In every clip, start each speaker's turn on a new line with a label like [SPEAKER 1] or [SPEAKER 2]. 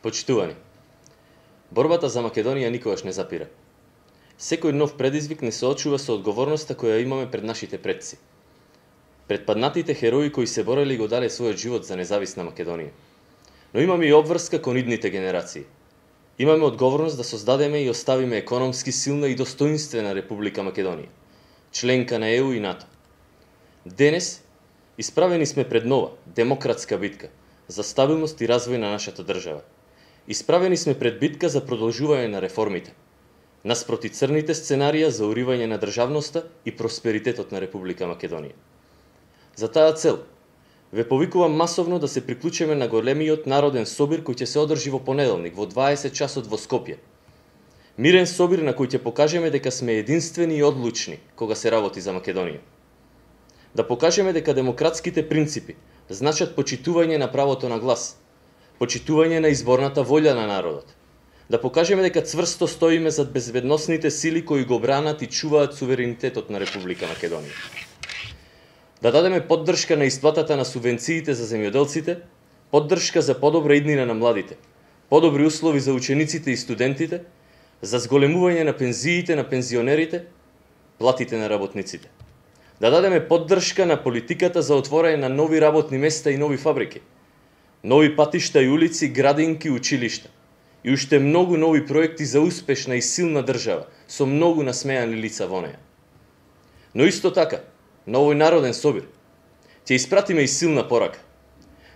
[SPEAKER 1] Почитувани, борбата за Македонија никогаш не запира. Секој нов предизвик не соочува со одговорноста која имаме пред нашите предци. Пред паднатите херои кои се бореле и го дале својот живот за независна Македонија. Но имаме и обврска кон идните генерации. Имаме одговорност да создадеме и оставиме економски силна и достоинствена Република Македонија, членка на ЕУ и НАТО. Денес, исправени сме пред нова, демократска битка за стабилност и развој на нашата држава. Исправени сме пред битка за продолжување на реформите, наспроти црните сценарија за уривање на државноста и просперитетот на Република Македонија. За таа цел, ве повикувам масовно да се приклучиме на големиот народен собир кој ќе се одржи во понеделник во 20 часот во Скопје. Мирен собир на кој ќе покажеме дека сме единствени и одлучни кога се работи за Македонија. Да покажеме дека демократските принципи значат почитување на правото на глас, почитување на изборната волја на народот. Да покажеме дека цврсто стоиме зад безбедносните сили кои го бранат и чуваат суверенитетот на Република Македонија. Да дадеме поддршка на исплатата на субвенциите за земјоделците, поддршка за подобра иднина на младите, подобри услови за учениците и студентите, за зголемување на пензиите на пензионерите, платите на работниците. Да дадеме поддршка на политиката за отворање на нови работни места и нови фабрики, нови патишта и улици, градинки, училишта и уште многу нови проекти за успешна и силна држава со многу насмеани лица во неја. Но исто така, на овој народен собир ќе испратиме и силна порака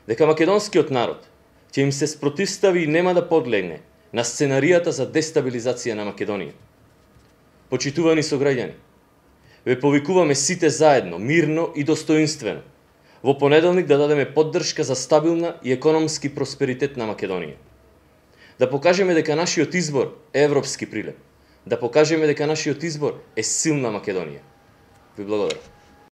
[SPEAKER 1] дека македонскиот народ ќе им се спротивстави и нема да подлегне на сценаријата за дестабилизација на Македонија. Почитувани сограѓани, ве повикуваме сите заедно, мирно и достоинствено во понеделник да дадеме поддршка за стабилна и економски просперитет на Македонија. Да покажеме дека нашиот избор е европски прилеп. Да покажеме дека нашиот избор е силна Македонија. Ви благодарам.